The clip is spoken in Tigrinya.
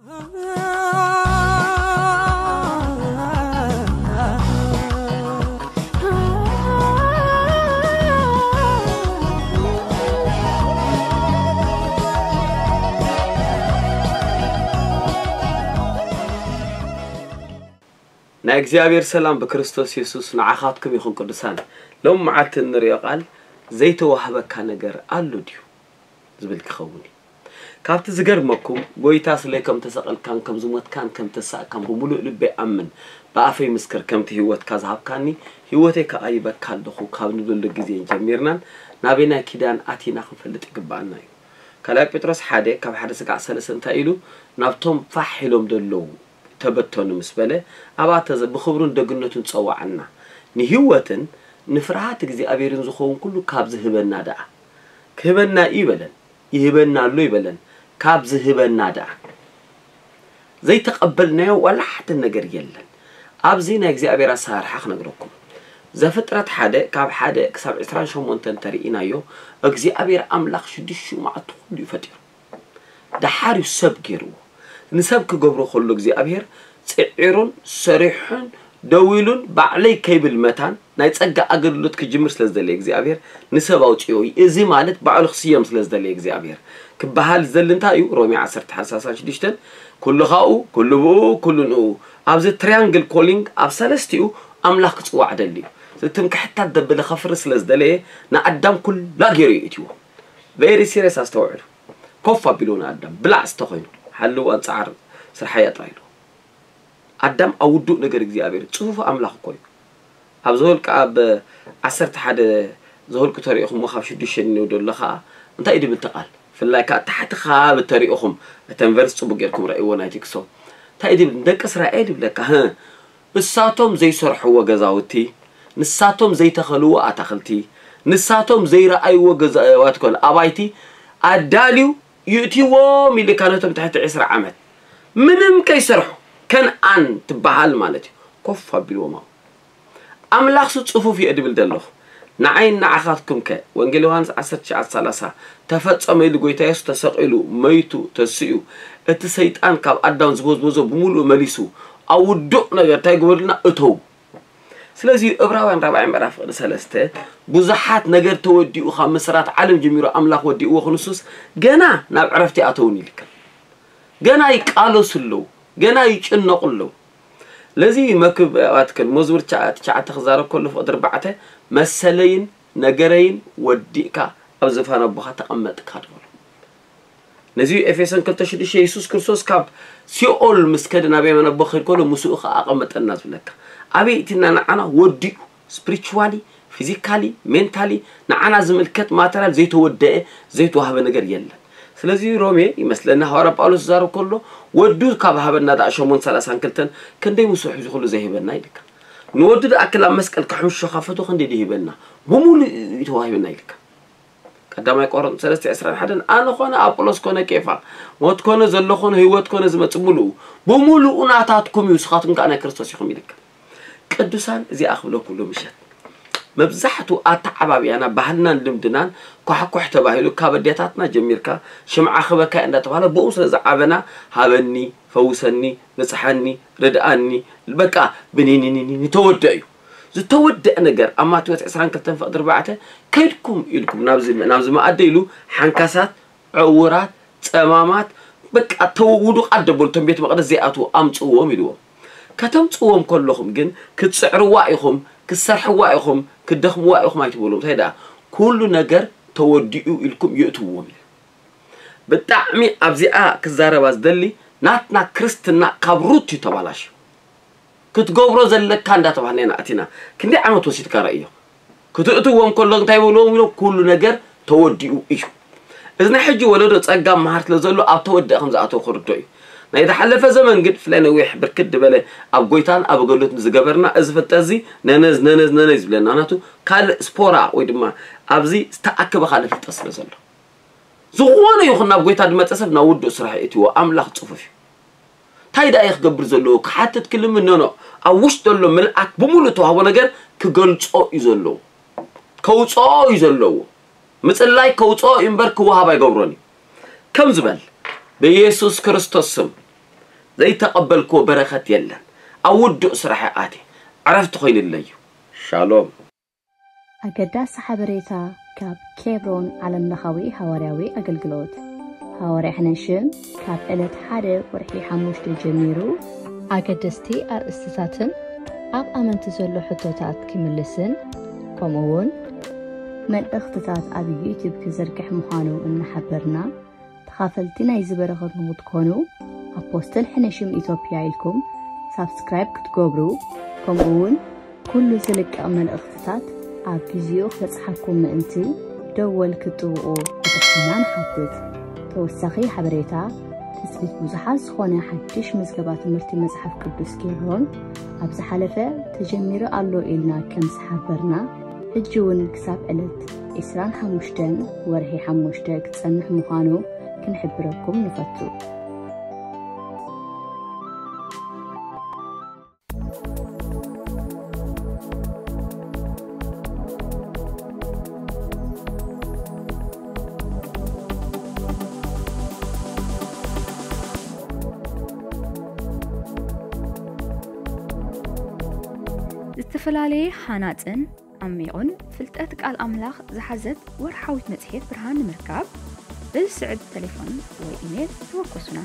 ናይ እግዚኣብሔር ሰላም ብክርስቶስ የሱስ ንዓኻትኩም ይኹን ቅዱሳን። ሎም መዓልቲ እንርእዮ ቃል ዘይተዋህበካ ነገር ኣሎ ድዩ ዝብል ክኸውን እዩ። ካብቲ ዝገርመኩም ጎይታ ስለይ ከም ተሰቐልካን ከም ዝሞትካን ከም ተሳእካን ብምሉእ ልበይ ኣምን ብኣፈይ ምስክር ከምቲ ህይወትካ ዝሃብካኒ ህይወተይ ከኣ ይበካ ኣለኹ ካብ ንብለሉ ግዜ ጀሚርናን ናበይ ናይ ኪዳን ኣቲና ክንፈልጥ ይግባኣና እዩ። ካልኣይ ጴጥሮስ ሓደ ካብ ሓደ ስጋዕ ሰለስተ እንታይ ኢሉ ናብቶም ፋሕ ኢሎም ዘለዉ ተበተኑ ምስ በለ ኣብኣ ተዘ ብኽብሩን ደግነቱን ጸዋዓና። ንህይወትን ንፍርሃት እግዚኣብሔርን ዝኸውን ኩሉ ካብ ዝህበና ደኣ ክህበና እዩ ይበለን፣ ይህበና ኣሎ ይበለን። ካብ ዝህበና ደኣ ዘይተቐበልናዮ ዋላ ሓደ ነገር የለን። ኣብዚ ናይ እግዚኣብሔር ኣሰራርሓ ክነግረኩም። ዘፍጥረት ሓደ ካብ ሓደ ክሳብ ዕስራን ሸሞንተን ተርእናዮ እግዚኣብሔር ኣምላኽ ሽዱሽተ መዓልቲ ኩሉ እዩ ፈጢሩ። ደሓር እዩ ሰብ ገይርዎ። ንሰብ ክገብሮ ከሎ እግዚኣብሔር ጽዒሩን ሰሪሑን ደው ኢሉን ባዕለይ ከይብል መታን ናይ ጸጋ ኣገልግሎት ክጅምር ስለ ዝደለየ እግዚኣብሔር ንሰብ ኣውጽኦ እዩ። እዚ ማለት ባዕሉ ክስየም ስለ ዝደለየ እግዚኣብሔር ክበሃል ዝደሊ እንታይ እዩ? ሮሜ ዓሰርተ ሓደ ሰላሳ ሽዱሽተን ኩሉ ካብኡ ኩሉ ብኡ ኩሉ ንኡ ኣብዚ ትሪያንግል ኮሊንግ ኣብ ሰለስቲኡ ኣምላኽ ክጽዋዕ ደሊ እዩ። ዝትምክሕታት ደብለ ከፍሪ ስለ ዝደለየ ንኣዳም ኩላ ገይሩ እዩ እትዎ። ቬሪ ሲሪየስ ኣስተውዕሉ። ኮፍ ኣቢሉ ንኣዳም ብላዕ ዝተኮይኑ ሓልው ኣንጻር ስርሓያ ጥራይ ኢሉ ኣዳም ኣብ ውዱእ ነገር እግዚኣብሔር ጽፉፍ ኣምላኽ እኮ እዩ። ኣብ ዘወልቂ ኣብ ዓሰርተ ሓደ ዘወልቂ ተሪእኹም ካብ ሽዱሽተ ንው ደሎ ከዓ እንታይ እዩ ድብል ተቃል ፍላይ ከዓ ታሕቲ ካብ ተሪእኹም እተን ቨርስ ጽቡቅ ጌርኩም ረእይዎ ናይ ቲክሶ እንታይ እዩ ድብል ደቂ እስራኤል ይብለካ ህ እሳቶም ዘይሰርሕዎ ገዛውቲ፣ ንሳቶም ዘይተኸልዎ ኣታኽልቲ፣ ንሳቶም ዘይረኣይዎ ገዛዋት ኮነ ኣባይቲ ኣዳልዩ ይእትዎም ኢልካ ነቶም ትሕቲ ዕስራ ዓመት ምንም ከይሰርሑ ከነኣን ትበሃል ማለት እዩ ኮፍ ኣቢልዎም ኣብ ኣምላኽሱ ጽፉፍ እየ ድብል ደለኹ ንዓይን ንዓኻትኩምከ ወንጌል ዮሃንስ ዓሰርተ ትሽዓተ ሰላሳ ተፈጸመ ኢሉ ጎይታ የሱስ ተሰቒሉ መይቱ ተሲኡ እቲ ሰይጣን ካብ ኣዳም ዝበዝበዞ ብምሉኡ መሊሱ ኣብ ውዱቕ ነገር እንታይ ግበሩልና እተው ስለዚ ዕብራውያን ራብዓይ ምዕራፍ ቅዲ ሰለስተ ብዙሓት ነገር ተወዲኡ ካብ ምስራት ዓለም ጀሚሩ ኣምላኽ ወዲእዎ ክንሱስ ገና ናብ ዕረፍቲ ኣተውን ይልካ ገና ይቃለሱ ኣለዉ ገና ይጭነቑ ኣለዉ ለዚ መክብ ኣትክል መዝሙር ትሽዓተ ክዛረብ ከሎ ፍቕዲ ኣርባዕተ መሰለይን ነገረይን ወዲእካ ኣብ ዝፋን ኣቦኻ ተቐመጥካ ትበሎ ነዚ ኤፌሶን ክልተ ሽዱሽተ የሱስ ክርስቶስ ካብ ሲኦል ምስ ከደ ናብ የማን ኣቦ ክኸድ ከሎ ምስኡ ከዓ ኣቐመጠና ዝብለካ ኣበይ እቲና ንዓና ወዲኡ spiritually physically mentally ንዓና ዝምልከት ማተርያል ዘይተወደአ ዘይተዋህበ ነገር የለን ስለዚ ሮሜ ይመስለኒ ሃዋርያ ጳውሎስ ዝዛረብ ከሎ ወዱ ካብ ሃበና ዳ ሸሞን ሰላሳን ክልተን ክንደይ ምስሑ ዝኽሉ ዘይህበና ይልካ ንወዱ ዳ ክላብ መስቀል ክሕምሾ ካፈቱ ክንደይ ድሂበና ብሙሉ እዩ ተዋሂብና ይልካ ቀዳማይ ቆሮንቶስ ሰለስተ ዕስራን ሓደን ኣነ ኮነ ኣጵሎስ ኮነ ቄፋ ሞት ኮነ ዘሎ ኮነ ህይወት ኮነ ዝመጽእ ሙሉኡ ብሙሉኡ ናታትኩም እዩ ንስኻትኩም ከዓ ናይ ክርስቶስ ኢኹም ይልካ ቅዱሳን እዚኣ ክብለኩም ሎምሸት መብዛሕቱ ኣተዓባብያና ባህልናን ልምድናን ኳሕኳሕ ተባሂሉ ካብ ኣዴታትና ጀሚርካ ሽምዓ ክበካ እንዳተባሃለ ብኡ ስለ ዝዓበና ሃበኒ ፈውሰኒ ብጽሓኒ ርድኣኒ በቃ ብኒኒኒኒ ተወደ እዩ ዝተወደአ ነገር ኣብ ማቴዎስ ዕስራን ክልተን ፍቕዲ ኣርባዕተ ከይድኩም ኢልኩም ናብዚ ናብዚ መኣዲ ኢሉ ሓንካሳት ዕውራት ጸማማት በቃ ተው ውዱቓት ደበሉ እቶም ቤት መቕደስ ዘይኣትዉ ኣምጽእዎም ኢልዎም። ከተምጽእዎም ከለኹም ግን ክትጽዕርዋ ኢኹም፣ ክትሰርሕዋ ኢኹም፣ ክትደኽምዋ ኢኹም ኣይትበልዎም። እንታይ ደኣ ኩሉ ነገር ተወዲኡ ኢልኩም የእትውዎም ኢሉ። ብጣዕሚ ኣብዚኣ ክዛረባ ዝደሊ ናትና ክርስትና ካብ ሩት እዩ ተባላሽዩ። ክትገብሮ ዘለካ እንዳተባህልና ኢና ኣቲና። ክንደይ ዓመት ወሲድካ ረእዮ። ክትእትዎም ከሎ እንታይ ይብልዎም ኢሎም ኩሉ ነገር ተወዲኡ እዩ። እዚ ናይ ሕጂ ወለዶ ጸጋ መሃር ስለ ዘሎ ኣብ ተወደአ ከም ዝኣተው ክርዶ እዩ። ናይ ዝሓለፈ ዘመን ግን ፍላይ ነዊሕ ብርክት ዝበለ ኣብ ጎይታን ኣብ ኣገልግሎትን ዝገበርና እዚ ፍልጠት እዚ ነነዝ ነነዝ ነነዝ ይብለና ናቱ ካልእ ስፖራ ወይ ድማ ኣብዚ ዝተኣከበ ካልእ ፍልጠት ስለ ዘሎ ዝኾነ ይኹን ናብ ጎይታ ዝመጸ ሰብ ናብ ውዱእ ስራሕ የእትዎ ኣምላኽ ጽፉፍ እዩ። እንታይ ደኣ እየ ክገብር ዘለዎ ክሓትት ክልምን ኖኖ ኣብ ውሽጢ ዘሎ ምልኣት ብምሉእ ተዋህቦ ነገር ክገልጾ እዩ ዘለዎ ከውፅኦ እዩ ዘለዎ ምፅላይ ከውፅኦ እዩ እምበር ክወሃብ ኣይገብሮን እዩ ከም ዝበል ብኢየሱስ ክርስቶስ ስም ዘይተቐበልክዎ በረኸት የለን። ኣብ ውዱእ ስራሕ ኣትየ ዕረፍቲ ኮይኑለይ እዩ። ሻሎም። ኣገዳሲ ሓበሬታ ካብ ኬብሮን ዓለምለኻዊ ሃዋርያዊ ኣገልግሎት። ሃዋርያ ሕነሽም ካብ ዕለት ሓደ ወርሒ ሓሙሽተ ጀሚሩ ኣገደስቲ ኣርእስትታትን ኣብ ኣመንቲ ዘሎ ሕቶታት ክምልስን ከምኡ እውን መልእኽትታት ኣብ ዩቲዩብ ክዝርግሕ ምዃኑ እናሓበርና ተኻፈልቲ ናይዚ በረኸት ንክትኮኑ ኣፖስትል ሕነሽም ኢትዮጵያ ኢልኩም ሳብስክራይብ ክትገብሩ ከምኡ እውን ኩሉ ዝልቀቕ መልእኽትታት ኣብ ግዚኡ ክበጽሓኩም ምእንቲ ደወል ክትጥውቑ ብትሕትና ንሓትት። ተወሳኺ ሓበሬታ ትጽቢት ብዙሓት ዝኾነ ሓድሽ ምዝገባ ትምህርቲ መጽሓፍ ቅዱስ ኬብሮን ኣብ ዝሓለፈ ተጀሚሩ ኣሎ ኢልና ከም ዝሓበርና ሕጂ እውን ክሳብ ዕለት ዕስራን ሓሙሽተን ወርሒ ሓሙሽተ ክጸንሕ ምዃኑ ክንሕብረኩም ንፈቱ። ዝተፈላለየ ሃናጽን ዓሚቑን ፍልጠት ቃል ኣምላኽ ዝሓዘት ወርሓዊት መጽሔት ብርሃን ንምርካብ ብዝስዕብ ተሌፎን ወይ ኢሜል ተወከሱና።